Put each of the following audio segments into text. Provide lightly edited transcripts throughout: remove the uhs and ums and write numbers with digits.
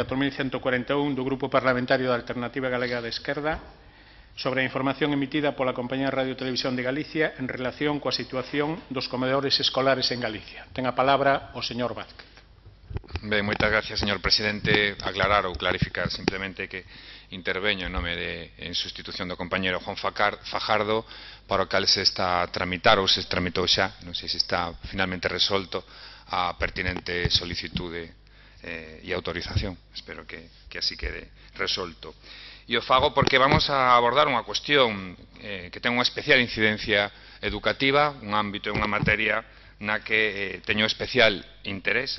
4141 do Grupo Parlamentario da Alternativa Galega de Esquerda sobre a información emitida pola Compañía de Radio e Televisión de Galicia en relación coa situación dos comedores escolares en Galicia. Ten a palabra o señor Vázquez. Ben, moitas gracias, señor presidente. Aclarar ou clarificar simplemente que interveño en sustitución do compañero Juan Fajardo, para o cal se está a tramitar ou se tramitou xa, non sei se está finalmente resolto a pertinente solicitude e autorización. Espero que así quede resolto. E o fago porque vamos a abordar unha cuestión que ten unha especial incidencia educativa, un ámbito e unha materia na que teño especial interés.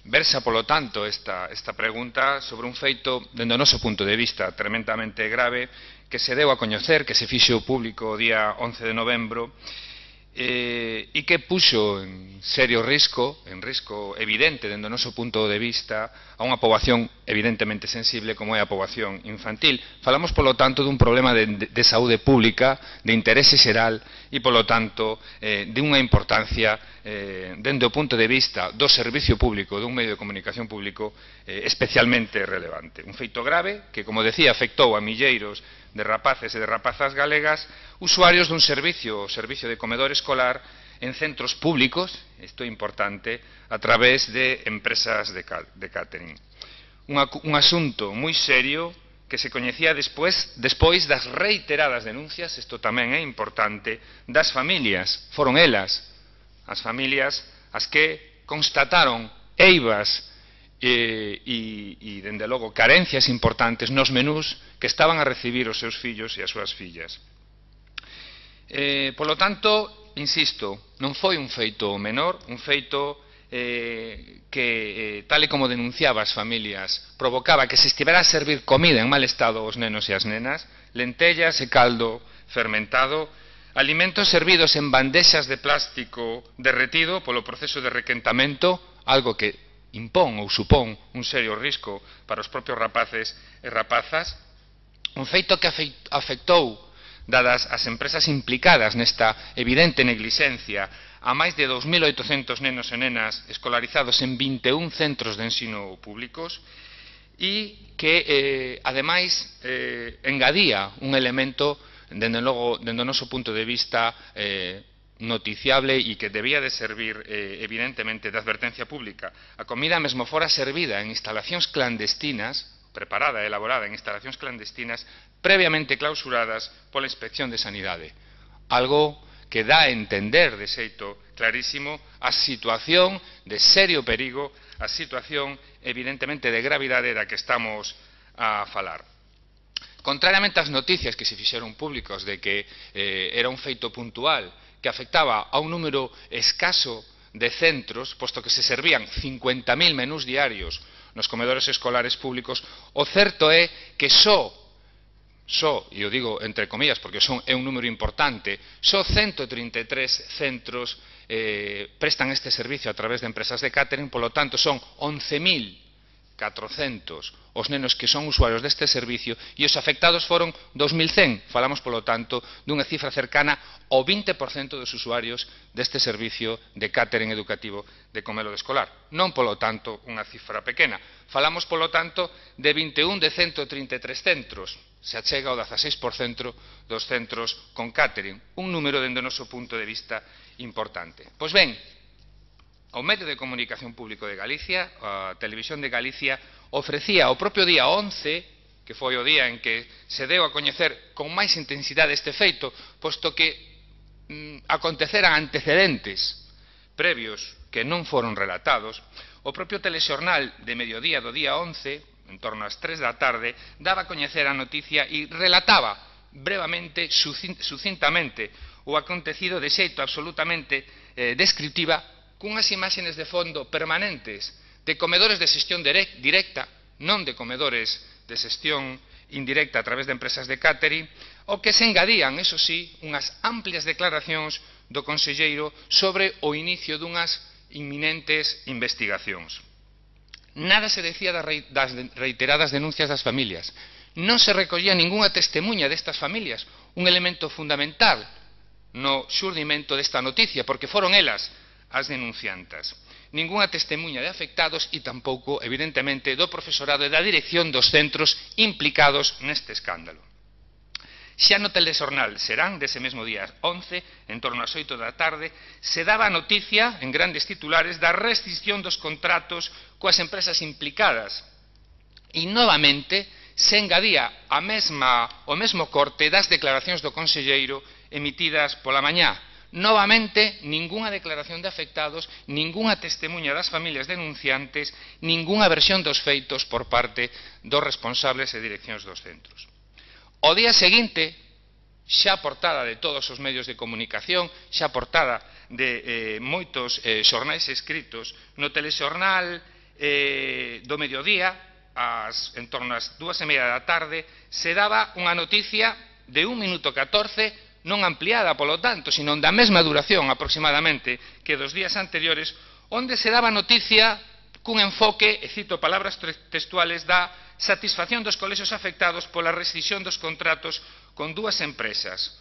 Versa, polo tanto, esta pregunta sobre un feito, dende o noso punto de vista, tremendamente grave, que se deu a coñecer, que se fixo público o día 11 de novembro, e que puxo en serio risco, evidente, dende o noso punto de vista, a unha poboación evidentemente sensible como é a poboación infantil. Falamos, polo tanto, dun problema de saúde pública, de interese xeral, e, polo tanto, de unha importancia dende o punto de vista do servicio público, dun medio de comunicación público especialmente relevante. Un feito grave que, como decía, afectou a milleiros de rapaces e de rapazas galegas, usuarios dun servicio, o servicio de comedor escolar, en centros públicos, isto é importante, a través de empresas de catering. Un asunto moi serio que se coñecía despois das reiteradas denuncias, isto tamén é importante, das familias. Foron elas, as familias, as que constataron eivas e, dende logo, carencias importantes nos menús que estaban a recibir os seus fillos e as súas fillas. Polo tanto, insisto, non foi un feito menor, un feito que, tal e como denunciaba as familias, provocaba que se estivera a servir comida en mal estado aos nenos e as nenas, lentellas e caldo fermentado, alimentos servidos en bandexas de plástico derretido polo proceso de requentamento, algo que impón ou supón un serio risco para os propios rapaces e rapazas, un feito que afectou, dadas as empresas implicadas nesta evidente neglixencia, a máis de 2.800 nenos e nenas escolarizados en 21 centros de ensino públicos e que, ademais, engadía un elemento, dende logo, dende o noso punto de vista, noticiable e que debía de servir, evidentemente, de advertencia pública. A comida mesmo fora servida en instalacións clandestinas, preparada e elaborada en instalacións clandestinas, previamente clausuradas pola Inspección de Sanidade. Algo que dá a entender de xeito clarísimo a situación de serio perigo, a situación, evidentemente, de gravidade da que estamos a falar. Contrariamente ás noticias que se fixeron públicos de que era un feito puntual, que afectaba a un número escaso de centros, posto que se servían 50.000 menús diarios nos comedores escolares públicos, o certo é que só, e o digo entre comillas porque é un número importante, só 133 centros prestan este servicio a través de empresas de catering, polo tanto son 11.400 os nenos que son usuarios deste servicio e os afectados foron 2.100. Falamos, polo tanto, dunha cifra cercana ao 20% dos usuarios deste servicio de catering educativo de comedor escolar. Non, polo tanto, unha cifra pequena. Falamos, polo tanto, de 21 de 133 centros. Se achega ao 16% dos centros con catering. Un número, dende o noso punto de vista, importante. Pois ben, o medio de comunicación público de Galicia, a Televisión de Galicia, ofrecía o propio día 11, que foi o día en que se deu a coñecer con máis intensidade este feito, posto que aconteceran antecedentes previos que non foron relatados, o propio telexornal de mediodía do día 11, en torno ás 3 da tarde, daba a coñecer a noticia e relataba brevemente, sucintamente, o acontecido de xeito absolutamente descriptiva, cunhas imaxes de fondo permanentes de comedores de xestión directa, non de comedores de xestión indirecta a través de empresas de catering, o que se engadían, eso sí, unhas amplias declaracións do conselleiro sobre o inicio dunhas inminentes investigacións. Nada se decía das reiteradas denuncias das familias. Non se recollía ningunha testemunha destas familias, un elemento fundamental no xurdimento desta noticia, porque foron elas as denunciantas. ningunha testemunha de afectados e tampouco, evidentemente, do profesorado e da dirección dos centros implicados neste escándalo. Xa no telexornal Serán, dese mesmo día 11, en torno ás 8 da tarde, se daba a noticia, en grandes titulares, da restricción dos contratos coas empresas implicadas. E, novamente, se engadía o mesmo corte das declaracións do conselleiro emitidas pola mañá. Novamente, ningunha declaración de afectados, ningunha testemunha das familias denunciantes, ningunha versión dos feitos por parte dos responsables e direccións dos centros. O día seguinte, xa portada de todos os medios de comunicación, xa portada de moitos xornais escritos, no telexornal do mediodía, en torno ás 2:30 da tarde, se daba unha noticia de 1 minuto 14, non ampliada, polo tanto, sino da mesma duración aproximadamente que dos días anteriores, onde se daba noticia cun enfoque, e cito palabras textuales, da satisfacción dos colexios afectados pola rescisión dos contratos con dúas empresas.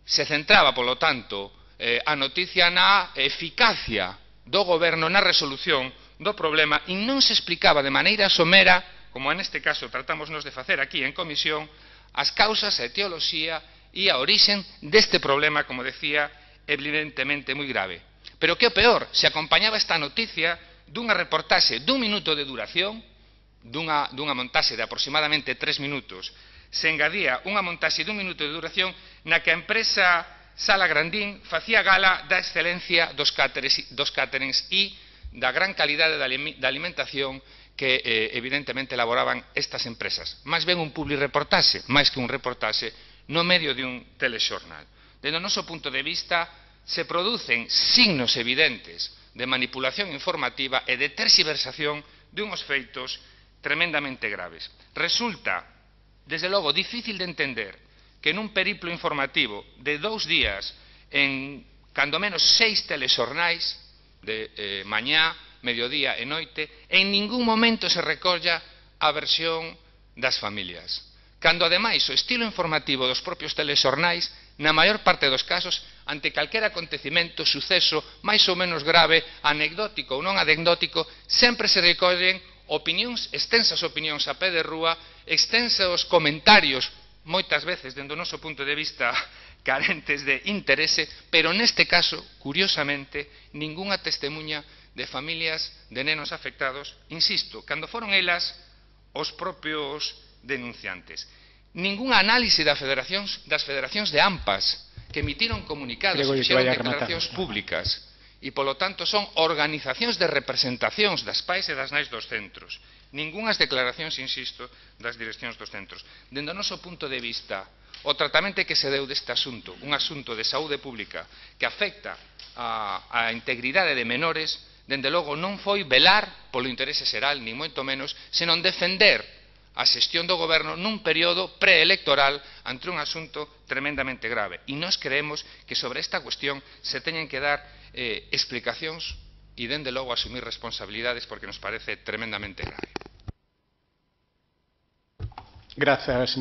Se centraba, polo tanto, a noticia na eficacia do goberno na resolución do problema e non se explicaba de maneira somera, como neste caso tratamos de facer aquí en comisión, as causas, a etioloxía e a orixen deste problema, como decía, evidentemente moi grave. Pero que o peor, se acompañaba esta noticia dunha reportaxe dun minuto de duración, dunha montaxe de aproximadamente 3 minutos, se engadía unha montaxe dun minuto de duración na que a empresa Sala Grandín facía gala da excelencia dos cáterings e da gran calidade da alimentación que evidentemente elaboraban estas empresas. Máis ben un publireportaxe, máis que un reportaxe, no medio de un telexornal. Dende o noso punto de vista, se producen signos evidentes de manipulación informativa e de terxiversación de unhos feitos tremendamente graves. Resulta, desde logo, difícil de entender que nun periplo informativo de 2 días, en cando menos 6 telexornais, de mañá, mediodía e noite, en ningún momento se recolla a versión das familias. Cando, ademais, o estilo informativo dos propios telexornais, na maior parte dos casos, ante calquera acontecimento, suceso máis ou menos grave, anecdótico ou non anecdótico, sempre se recollen opinións, extensas opinións a pé de rúa, extensos comentarios, moitas veces, dende o noso punto de vista, carentes de interese, pero neste caso, curiosamente, ningunha testemuña de familias de nenos afectados, insisto, cando foron elas os propios denunciantes. Ningunha análise das federacións de AMPAs, que emitiron comunicados e fixeron declaracións públicas, e, polo tanto, son organizacións de representacións das pais e das nais dos centros. Ningunhas declaracións, insisto, das direccións dos centros. Dende o noso punto de vista, o tratamento que se deu deste asunto, un asunto de saúde pública que afecta a integridade de menores, dende logo non foi velar polo interese xeral, ni moito menos, senón defender a xestión do goberno nun período preelectoral ante un asunto tremendamente grave. E nós creemos que sobre esta cuestión se teñen que dar explicacións e, dende logo, asumir responsabilidades porque nos parece tremendamente grave. Gracias.